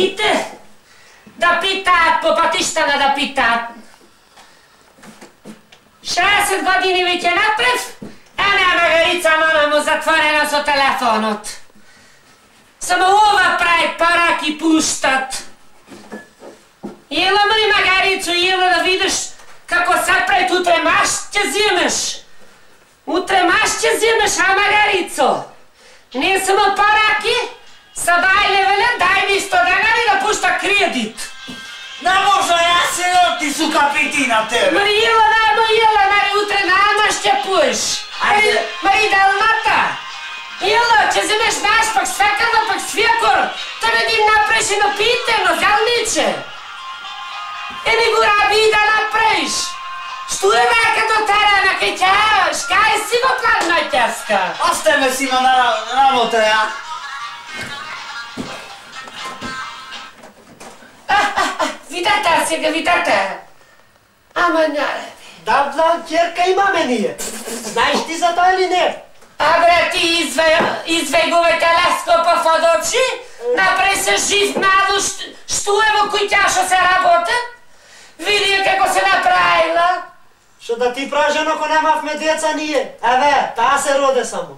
Сите да питаат по патиштана да питаат. 60 години веќе напред, една Магарица мама му затворена со телефонот. Само ова прави параки пуштат. Ела ме Магарицу, ела да видиш како се пред утре маш ќе земеш. Утре маш ќе земеш, а Магарицо? Не само параки, са бајле велен, дај ми 100 денари да пушта кредит. Не може, јас се ти су капитина тебе. Мари, ела, мари, утре намаш ќе пуш. Мари, далмата. Ела, ќе земеш наш, пак свекарва, пак свекор. Тебе ти направиш едно питено, зелниче. Еми го раби да направиш. Што е века до терена, кај ќаш? Кај си го план на ќаска? Остај ме си на работа, ја. Видете сега, видете. Ама няре. Да, ќерка имаме ние. Знаеш ти за тоа или не? Абре, ти извејгуве телескопа од очи, направи се жив малу, што е во куќаша се работа? Види како се направила. Што да ти пражено ако немавме деца ние? Еве, таа се роде само.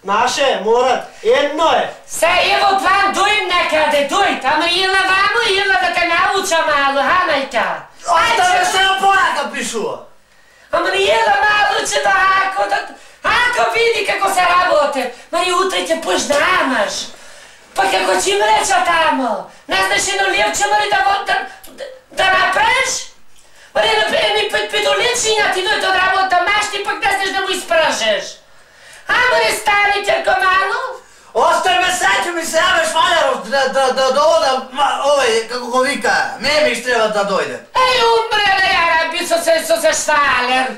Наше, морат, едно е. Се, ево план, дојм некаде, дојд, ама ела вамо, ела да те науча малу, ханајка. Оставе се опорака пишува. Ама не ела малу, че да ако види како се работе. Мари, утре ќе пуш да амаш. Па како ќе им реча тамо? Не знаеш едно левче, мари, да направиш? Мари, еми педолечиња ти дојде од работа машти, пак не знаеш да му испражеш. Ама не стани, ќерко малу? Остави ме сеќу ми се јавеш Малеров да одам, овој, како го вика, Мемиш треба да дојде. Еј, умрела јараби со се Швалер.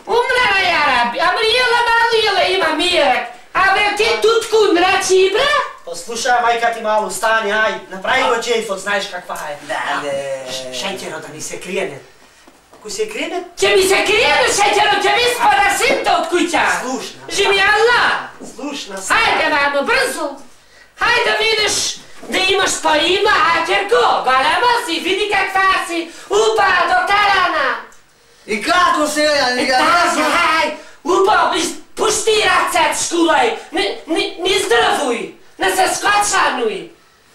Умрела јараби, ама ела малу, ела има мирак. Абе, ти тутку мрачи, бра? Послушај, мајка ти малу, стани, ај, направи го джейфот, знаеш каква е. Да. Шеќеро да ни се криене. Кој се криене? Ќе ми се криене шеќеро, ќе ми спада синта од куќа. Слушна. Живи Аллах. Слушна. Хајде, мамо, брзо. Хајде да видиш да имаш па има, ќерко, голема си, види каква си, упа до терена. И како се ја, не га Тази, хај, упа, пушти рацет шкулај, не здравуј, не се скочануј.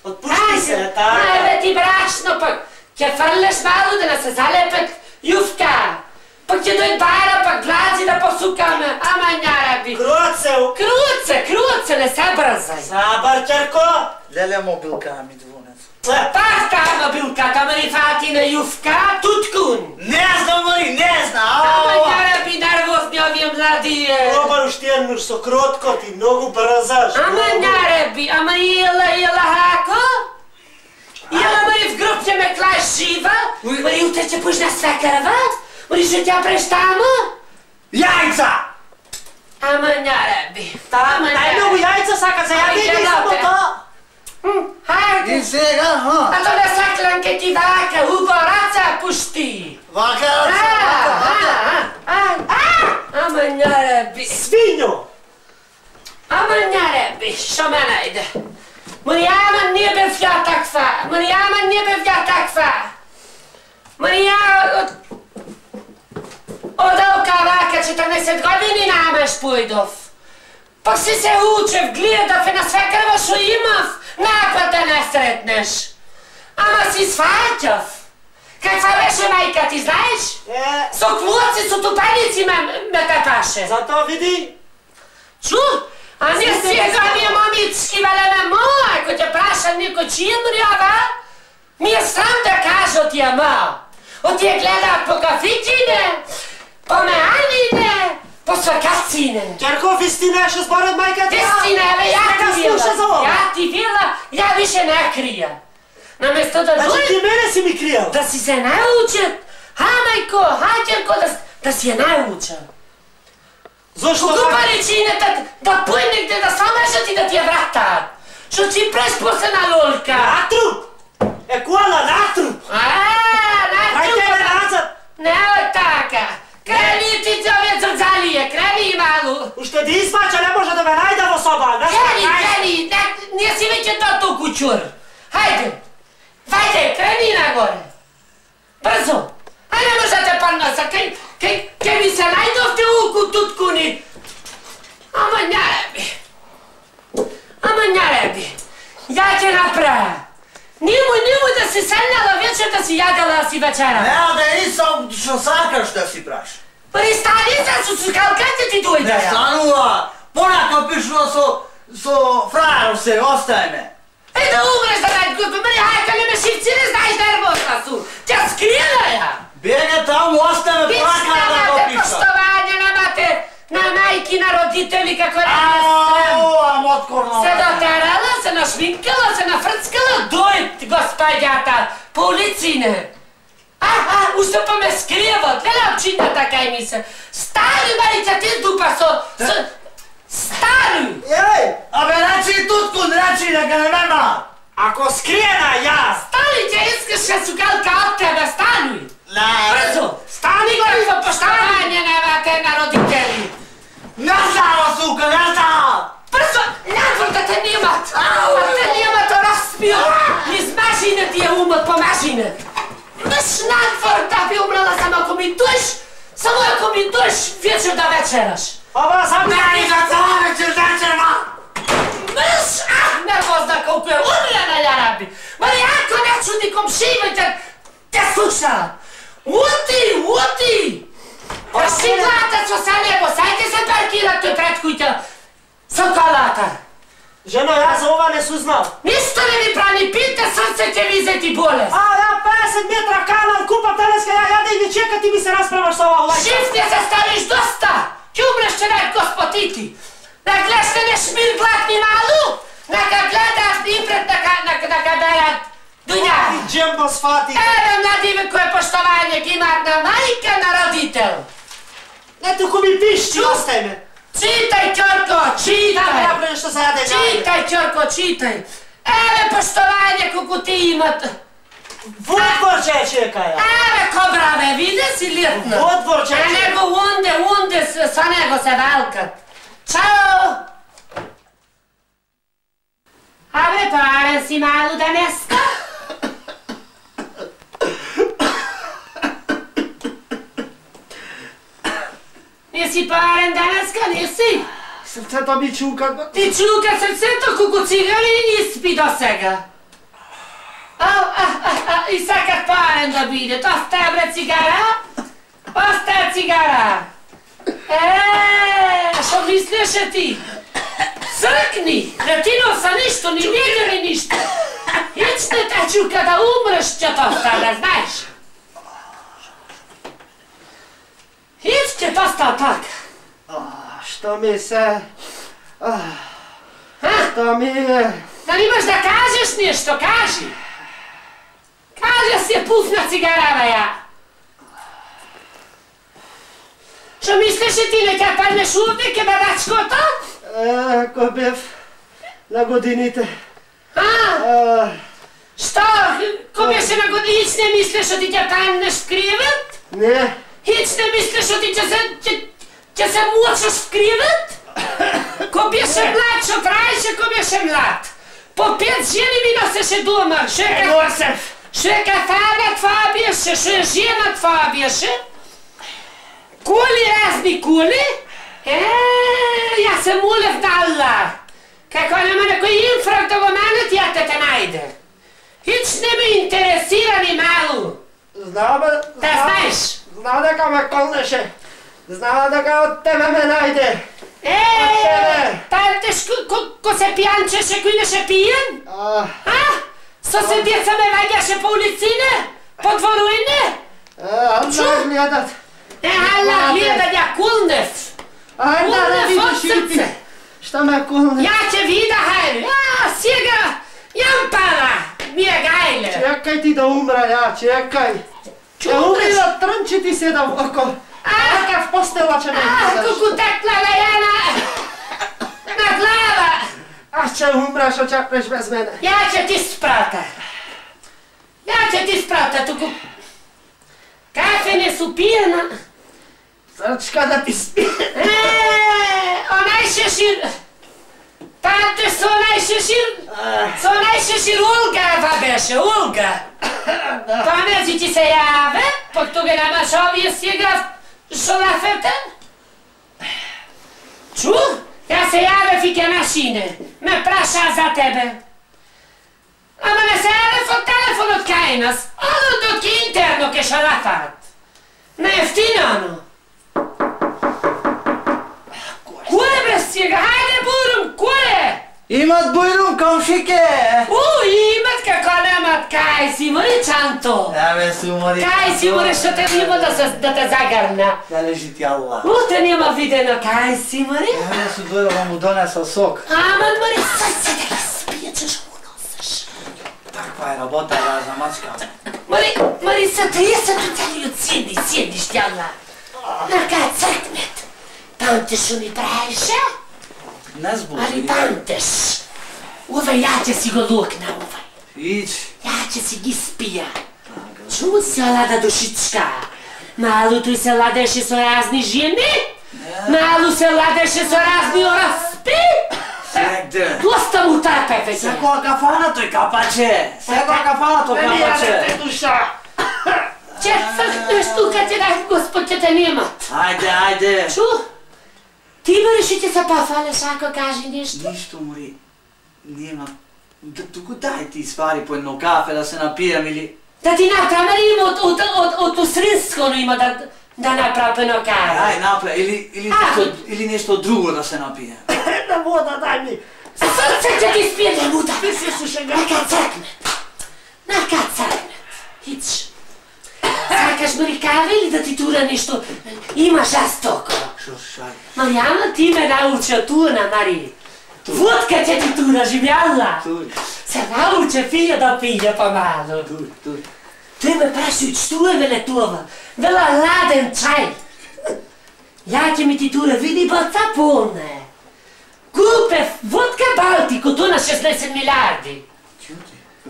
Отпушти се, така. Ајде ти брашно, пак ќе фрлеш малу да не се залепет јувка. Пак ќе дојд бајра, пак глази да посукаме, ама њараби. Круце, не се брзај. Сабар, ќерко. Леле мобилка ми двунец. Пак таа мобилката, ма ни фати на јувка, туткун. Не знам, Мари, не знам. Ама њараби нервозни овие млади. Пробар уште еднуш со кротко ти, многу брзаш. Ама њараби, ама ела хако? Ела мари в груп ќе ме клаеш жива? Мари утре ќе пуш на свекарва? Мари што ќе преш тамо? Јајца! Ама њараби. Најмногу јајца сака за јаде и само тоа. Хајде. И сега, А то не саклан ке ти вака, убо раца пушти. Вака раца, Ама њараби. Свињо! Ама њараби, што ме најде? Маријама не бев ја таква. Маријама од Алка вака 14 години намаш појдов. Па си се учев, гледав на свекарва шо имав, напад да не сретнеш. Ама си сваќав. Каква беше мајка ти, знаеш? Со клуци, со тупаници ме тепаше. Затоа види. Чу? А не сега ми момички велеме моја, ако ќе праша некој чинрјава, ми е срам да кажа од тие ма. Од тие гледаат по кафичине, по меанине, по свакацине. Ќерко, вистина што според мајка ти? Вистина, еве, ја ти вела, ја више не крија. Наместо да Значи ти мене си ми кријал. да си се научат, мајко, ќерко, да си ја научат. Зошто Кога паричината да појнегде да самешат и да ти ја вратаат. Што ти преш после на лолка. Натруп! Кола, натруп! Хајде ме назад! Не е така. Крени ти овие зрцалие, крени малу. Уште ти испача, не може да ме најде во соба. Крени, ние си веќе тото кучур. Хајде! Вајде, крени нагоре! Брзо! А не може да те парнаса, кај ми се најдовте уку туткуни! Ама няреби! Ја ќе направя! Немој да си седнала вечер да си јадела да си вечера! Еа да искам што сакаш да си праш. Пристани за сукалката ти дојде! Не станува! Понака пишува со фрајер се, остај ме! Да умреш да најд го мри, хајка не ме шивци, не знаеш да работа су! Тя скрила ја! Беге таму, остај ме, понака да го пиша! Поштовање намате на мајки, на родители, како не срам! Моткорно! Се дотерала, се нашминкала, се нафрцкала, дојд, господјата, по улицине! Уште па ме скријават, гледа обчината кај ми се! Стари, мајка, ти дупа со... Стари! Еј, абе, рачи туткун, рачи, нека не нема! Ако скриена јас! Стани, ќе искаш сукалка од тебе, стани! Брзо! Стани горе во поштовање немате на родители! Не знава, сука, не знава! Брзо! Надвор да те немат! Да те немат разпил! Низ машина ти е умот по машина! Неш надвор да би умрала само ако ми дојш вечер да вечераш! Ова сам Не, за цела вечер, вечерма! Мрш! Нервозна колку е умрена, ја раби! Мари, ако не чуди комшивите, те слушаат! Ути! Прашивлата со него, сајте се паркират тој пред кујта со колата! Жено, јас за ова не сузнал. Ништо не ми прани, пите срце ќе ви зети болест! Ја 50 метра канал, купа телеска, ја да и чека, ти ми се расправаш со ова лајка. Шиф не се ставиш доста! Ќе умреш че најд господити! Да гледаш не шмир глатни малу, нека гледат и пред нека берат дуњави. Джембо сфати. Еве младиве кој поштовање ги имаат на мајка, на родител. Не туку ми пишчи, остај ме. Читај, Ќорко, читај! Направи што се јаде. Читај, Ќорко, читај! Еве поштовање колку ти имат. Во двор ќе чека ја. Еве кобраве, виде си летна. Во двор ќе А него унде со него се валкат. Чао! Абе, парен си малу денеска? Не си парен денеска, не си? Срцето ми чука. Ти чука срцето колку цигари и не спи до сега. И сакат парен да бидет. Остаја бре цигара? Остаја цигара. Што мислеше ти? Цркни! Не ти носа ништо, ни видели ништо. Хич не те чука да умреш, ќе то стане, знаеш? Хич ќе то стане така. Што ми се... Што ми е... Да имаш да кажеш нешто, кажи. Кажи си пусна цигарава ја. Што мислеше ти, не ќе паднеш овде, ке бабачкото? Ако бев на годините. Што? Ко беше на години, хич не мислеш ти ќе паднеш в кривет? Не. Хич не мислеш ти ќе се мучаш в кривет? Ко беше млад, што траеше ко беше млад? По 5 жени ми носеше дома. Што е кафана твоја беше, што е жена твоја беше? Кули, разни кули? Јас се молев на Аллах. Како нема некој инфрак да го манат, ја те најде. Хич не ме интересира ни малу. Знам, Да знаеш? Знам дека ме колнеше. Знам дека од тебе ме најде. Тајте ко се пијанчеше, кој неше пијен? Со се деца ме ваѓаше по улицине? По дворуине? Аллах гледат. Аллах гледа, ја кулнев. Ајде да видиш и ти. Што ме кулне? Ја ќе вида, хајде. Сега, јам пара, ми е гајле. Чекај ти да умра, ја, чекај. Ја умри да трнчи ти се да око. Така в постела ќе ме гледаш. Колку текла на ја на глава. Аз ќе умра, што чакнеш без мене. Ја ќе ти спрата. Туку кафе не су пиена. Срчка да ти спи. Онај шешир. Тате со онај onaj šešir Ulga беше, Ulga. Памети ти се јаве, пак тога немаш овие сега шолафетен? Чу? Ја се јаве фике на шине, ме праша за тебе. Ама не се јаве во телефонот кај нас, одот ке интерно ке шолафат. Не ефтино. Кој бе сега? Хајде бурум, кој? Имат бујрум, комшике! Имат како немат, кај си, мори чанто! Еве се умори. Кај си, мори, што те нема да те загарна. Да лежи ти Аллах. Те нема видено, кај си, мори? Еве се дојдова му донесла сок. Ама, мори, се да ги спие, чеш му носиш. Таква е работа, разна мачка. Мори, са 30 целиот седиш, тјала. Нака цркнет. Памтиш што ми правише? Не збори. Али памтиш. Овај, ја ќе си го лукна, овај. Ич. Ја ќе си ги спија. Чу се лада душичка. Малу тој се ладеше со разни жени. Малу се ладеше со разни ораспи. Сегде. Доста му трпе, веќе. Секоја кафана тој капаче. Секоја кафана тој капаче. душа. Ќе цркнеш тука, ќе да Господ ќе те немат. Ајде. Чу? Ти можеш и ќе се пофалеш ако кажи нешто? Ништо, мори. Нема. Туку дај ти свари по едно кафе да се напијам или... Да ти направи има од усринско има да направи едно кафе. Ај, направи. Или нешто друго да се напијам. Една вода дај ми. Срце ќе ти спие да мута. Нака цркнет. Хич. Сакаш мори кафе или да ти тура нешто? Има жестоко. Шо шај? Маријана, ти ме научи туна, Мари. Водка ќе ти тура, живјала. Тури. Се научи фија да пије помалу. Тури. Тој ме прашуј, што е веле това? Вела ладен чај. Ја ќе ми ти тура, види боца полна е. Купев водка Балтико, то на 16 милиарди.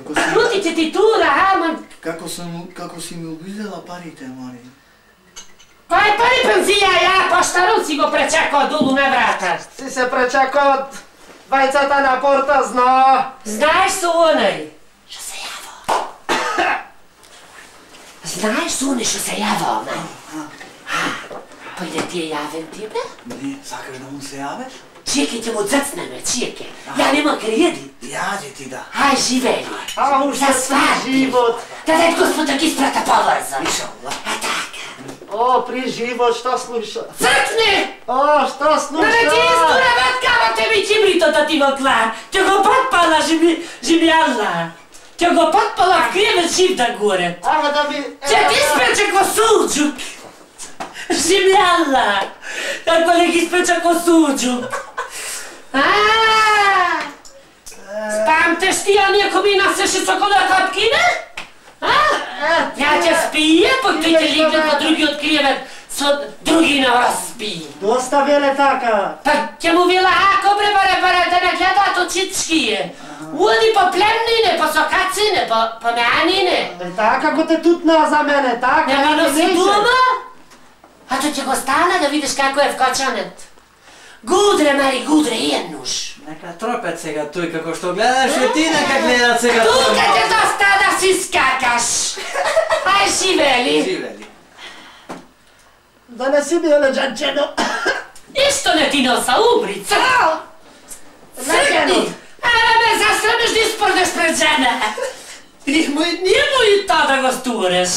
Чути ќе ти тура, ама... Како си ми обидела парите, Мари? Кој пари пензија ја, поштарот си го пречекao долу на врата. Си се пречекao од вајцата на порта, зна. Знаеш со онај? Што се јава? Знаеш со онај што се јава, онај? Појде ти е јавен тебе? Не, сакаш да му се јавеш? Чеке ќе му црцнеме, чеке. Ја нема кредит. Јади ти да. Ај, живели. А уште при живот. Да дај Господ да ги спрата побрзо. Иншаллах. А така. О, при живот, што слуша? Цркни! О, што слуша? Да не ти изтура ваткава тебе кибрито да ти го клар. Ќе го потпала жимјална. Ќе го потпала в кревет жив да горе. Ама да ми... Ќе ти испече ко суџук. Жимјална. Како не ги испече ко суџук. Спамтеш ти оние кои ми насеше сокола капкина? Ја ќе спие, пак тој ќе легне во другиот кривет со други нараспи. Доста веле така. Пак ќе му вела, ако баре да не гледаат очичкие. Уди по племнине, по сокацине, по меанине. Така како те тутна за мене, така. Нема носи дума? А тој ќе го стана да видиш како е вкочанет. Гудре, Мари, гудре, еднуш. Нека тропет сега тој како што гледаш и ти нека гледат сега тој. Тука ќе доста да си скакаш. Ај, живели. Живели. Да не си биле джанчено. Ништо не ти носа, умри, Цркни! Ама ме засрамиш да испорнеш пред жена. Нему и то да го стуреш.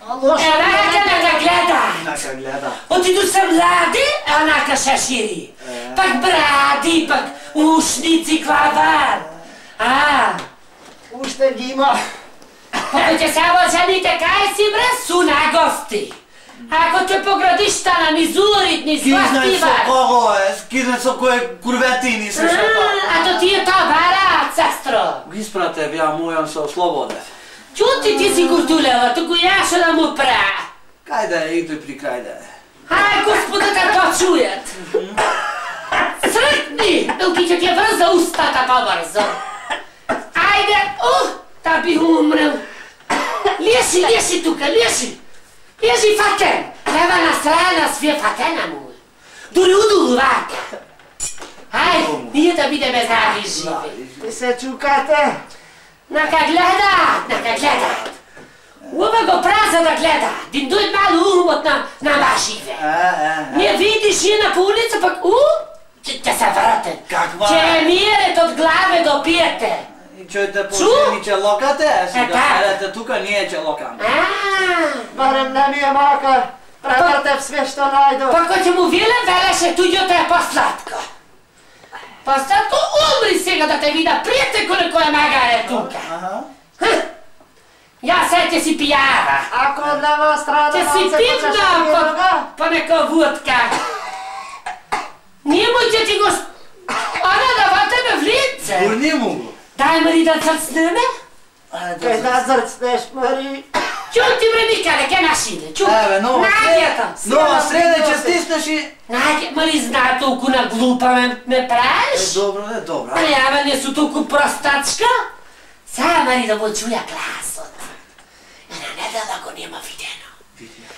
Нека да гледа. Нека гледа. Отиду се млади, онака шашири. Пак бради, пак ушници, клавар. Уште ги има. Покојте само жените кај си бре, су на гости. Ако те поградиш стана ни зурит, ни Кизнеј со свастива. кого е? Кизнеј со кој курветини се шепа. А то ти е тоа бараат, сестро. Ги испрате, ја мојам со слободе. Чути ти си куртулева, туку ја шо да му пра. Кај да е, и тој при крај да е. Ај, Господа да то чујат. Цркни, билки ќе ти врза устата побрзо. Ајде, да би умрел. Леши тука, леши. Лежи фатен. Лева на страна свие фатена му. Дури удулу вака. Ај, ние да бидеме здрави и живи. Ти се чукате? Нака гледаат. Ова го праза да гледа. Дим дует малу умот на машиве. Не видиш жена по улица, пак ќе се вратен. Ќе миерет од главе до пиете. И чујте поштени че локате, сега седете тука, ние че локаме. Барем не ми е макар. Превртев све што најдов. Па кој ќе му велеше туѓото е посладко. Посладко умри сега да те вида пријате колико е магаре тука. Ја се ќе си пијава. Ако од лева страна ќе си пивна по нека водка. Ние му ќе ти го... Она да ватеме в лице. Гурни му го. Дај Мари да црцнеме. Кај да црцнеш, Мари? Чуј ти бре Микале, ке нашине, чуј. Еве, нова среда ќе стиснеш и... Најде, Мари знае толку на глупа ме правиш? Добро, добро. Јава не су толку простачка. Сега Мари да му чуја гласот. Една недела го нема видено.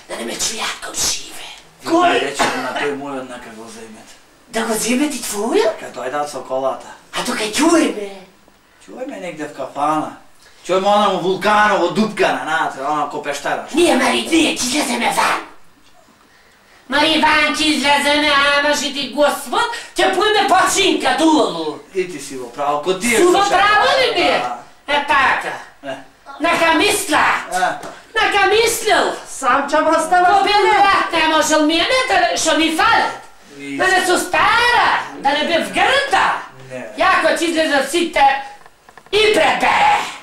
Да не ме чујат комшиве. Кој? Рече на тој мојот нека го земете. Да го земе ти твојот? Кај дојдат со колата. А тука чуеме. Чуеме негде в кафана. Чуеме онаму вулканово дупкана, знаете, она ко пештараш. Ние, Мари, ние ќе излеземе ван. Мари, ван ќе излеземе, ама ще ти Господ, ќе поиме починка долу. И ти си во право, ко тие Су во право ли ми? Е така. Нека мислат. Нека мислил. Сам ќе му оставаш. Ко бил брат не можел мене, шо ми фалят. Да не су стара, да не бе в грда. Јако ќе излезат сите и пребе.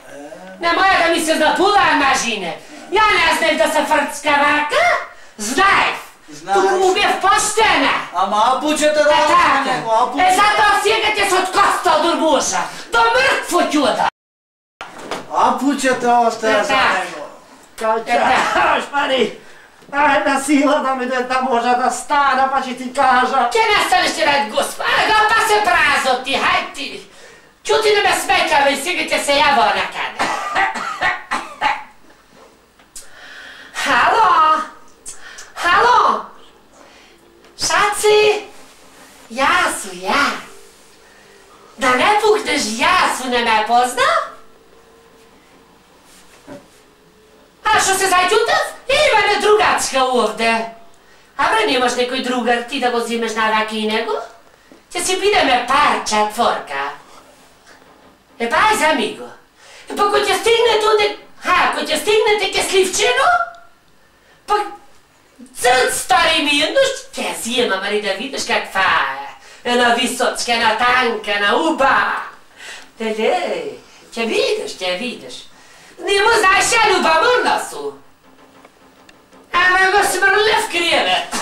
Немоја да ми се запулаа мажине. Ја не знаев да се фрцка вака. Знаев. Туку му бев поштена. Ама апучете да така. Затоа сега ќе се откоста од урбуша. До мртво ќуда. Апучете остае за него. Кај чаш, Мари. Една сила да ми да може да стана, па ќе ти кажа. Ќе не станеш ти ради Господ. Ага, па се празот ти, хај ти. Чути не ме смекаве и сега ќе се јава накаде. Halo? Halo? Šaci? Ja su ja. Da ne pukneš ja su ne me poznao? A što se zađutav? Ima ne drugačka ovde. A bre, nemaš nekoj drugar ti da go zimeš na raki nego? Će si bideme parča tvorka. E pa aj za amigo. E pa ko će stigne tude, ko će stignete ke Slivčinu, pa crc stari mirnoš, ќе zima, Mari, da vidiš kakva je. Ena visočka, ena tanka, ena uba. Će vidiš. Nemo znaš ja ljubomorna su. Ама го смрля в криевет.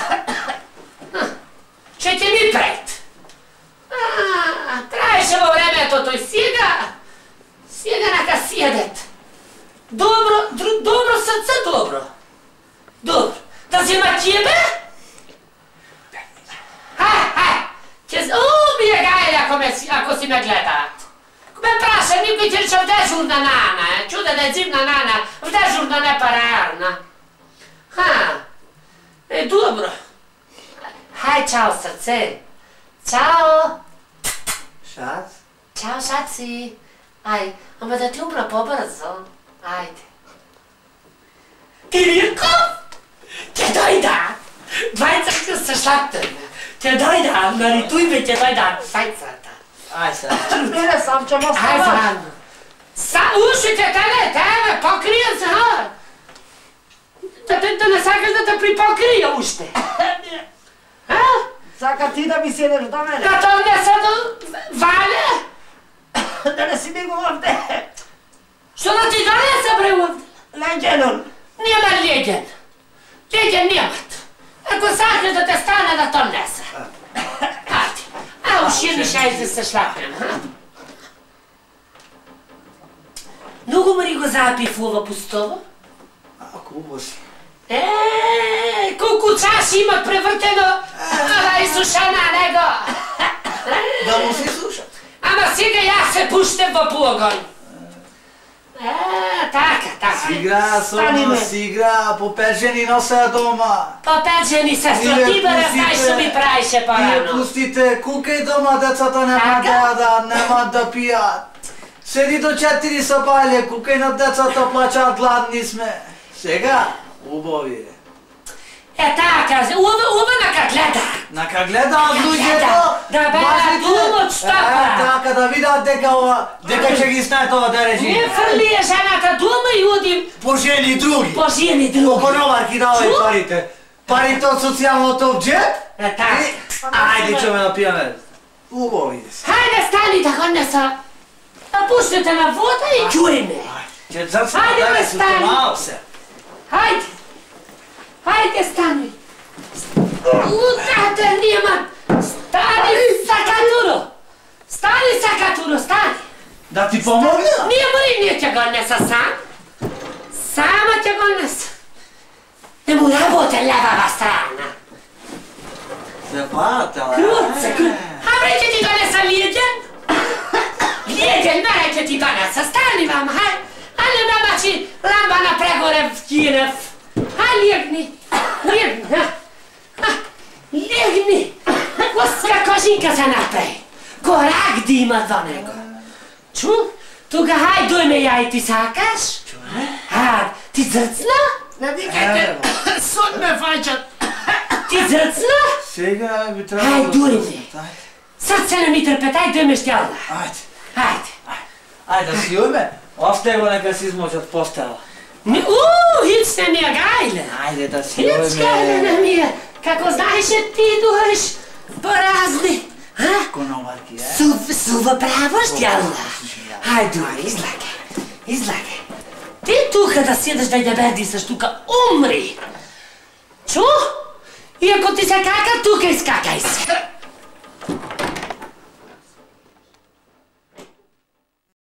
Ще ти ми пред. Траеше во времето тој сега нака сједет. Добро срце, добро. Да зема тебе? Ми е гајле ако си ме гледаат. Ме праша, никој ти рече в дежурна нана, чуда да е зимна нана, в дежурна не парарна. Добро. Хај, чао, срце. Чао. Шац? Чао, шаци. Ај, ама да ти умра побрзо. Ајде. Кириков? Ќе дојда. Двајцата се шлаптаме. Ќе дојда, нали тујме ќе дојда двајцата. Ај се. Мене сам ќе му Ај, оставаш. заедно. Ушите тебе, покрија се, Да не сакаш да те припокрија уште. Сака ти да ми седеш до мене. Да то не се до Вале? Да не си ми го овде. Што да ти донесе бре овде? Леѓенон. Нема леѓен. Леѓен немат. Ако сакаш да те стане да то несе. Ајде. Уши ми шајзе се шлапнем. Многу Мари го запив ова пустово? Кубо си. Колку чаши имат превртено, ала и сушана него. Да му се слушат. Ама сега јас се пуштем во погон. Така. Си игра, Соно, си игра, по 5 жени носа дома. По 5 жени, сестро, ти бе знаеш што ми правише Вие порано. пустите, кукај дома, децата нема да јадат, нема да пијат. Седи до 4 сапале, кукај на децата плачаат, гладни сме. Сега, убави. Така, уба нака гледа. Нака гледаат луѓето, Да бе, думот штопа. Така, да видат дека ќе ги знаат ова да режи. Не фрлие жената дума и удим По жени други. по жени други. По коноварки давај парите. Парите од социјалното джеп. Така. Ајде, ќе ме напијаме. Убави се. Хајде, стани да ходнеса. Пуштите на вода и чуеме. Ќе зацна Ајде, да бе, се стани. помал се. Хајде. Хајде, стани. Утате нема. Стани, сакатуро. Стани. Да ти помогна? Ние ќе го неса сам. Сама ќе го неса. Не му работе левава страна. Се патела. Круце. Абре ќе ти го неса лиеден. Лиеден, мере ќе ти го неса. Стани вам, хај. Але мамачи ламба на прегоре в Киев. Хај, легни. Легни. Оска кожинка се направи. Корак да има до него. Чу? Тука хај дојме ја и ти сакаш? Ти зрцна? Не викајте, сон ме фаќат. Ти зрцна? Сега би требало... Хај, дојме. Срце не ми трпетай, дојме штјалда. Ајде. Хајде. Да си уме. Остави го нека си измочат постела. Хицне ми ја гајле. Ајде да си Хицкајле на ми ја. Како знаеше ти дојш по разни. Коноварки, е? Сува право штјалда. Хај, дојме, излагај. Ти тука да седеш да ја бердисаш тука, умри. Чу? И ако ти се кака, тука искај.